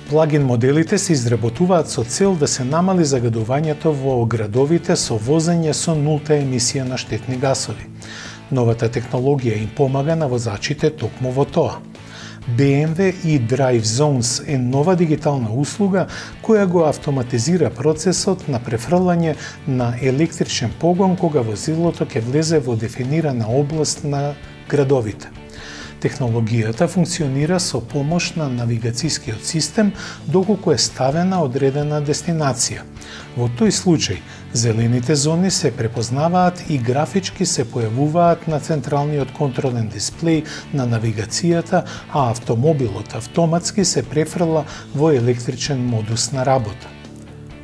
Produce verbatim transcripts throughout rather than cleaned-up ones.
Плагин моделите се изработуваат со цел да се намали загадувањето во градовите со возење со нулта емисија на штетни гасови. Новата технологија им помага на возачите токму во тоа. би ем ви eDrive Zones е нова дигитална услуга која го автоматизира процесот на префрлање на електричен погон кога возилото ќе влезе во дефинирана област на градовите. Технологијата функционира со помош на навигацијскиот систем доколку е ставена одредена дестинација. Во тој случај, зелените зони се препознаваат и графички се појавуваат на централниот контролен дисплеј на навигацијата, а автомобилот автоматски се префрла во електричен модус на работа.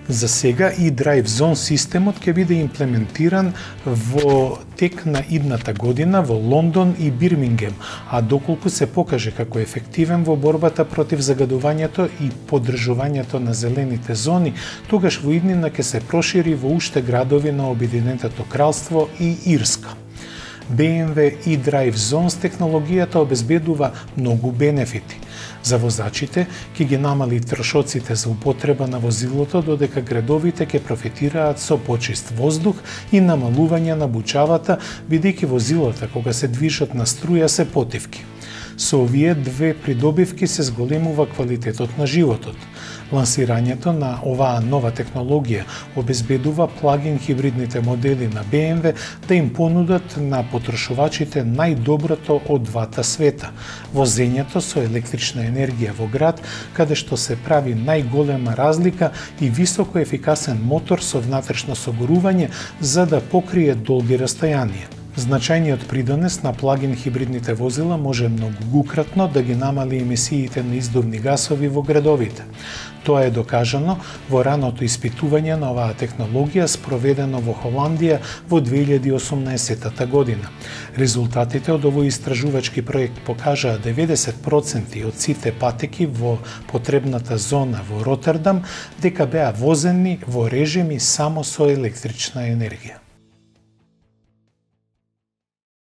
За сега eDrive Zone системот ќе биде имплементиран во тек на идната година во Лондон и Бирмингем, а доколку се покаже како ефективен во борбата против загадувањето и поддржувањето на зелените зони, тогаш во иднина ќе се прошири во уште градови на Обединетото кралство и Ирска. би ем ви eDrive Zones технологијата обезбедува многу бенефити. За возачите ќе ги намали трошоците за употреба на возилото, додека градовите ќе профитираат со почист воздух и намалување на бучавата, бидејќи возилата кога се движат на струја се потивки. Со овие две придобивки се зголемува квалитетот на животот. Лансирањето на оваа нова технологија обезбедува плагин хибридните модели на би ем ви да им понудат на потрошувачите најдоброто од двата света. Возењето со електрична енергија во град, каде што се прави најголема разлика и високо ефикасен мотор со внатрешно согорување за да покрие долги растојанија. Значајниот придонес на плагин хибридните возила може многукратно да ги намали емисиите на издувни гасови во градовите. Тоа е докажано во раното испитување на оваа технологија спроведено во Холандија во две илјади и осумнаесетта година. Резултатите од овој истражувачки проект покажаа деветдесет проценти од сите патеки во потребната зона во Ротердам дека беа возени во режими само со електрична енергија.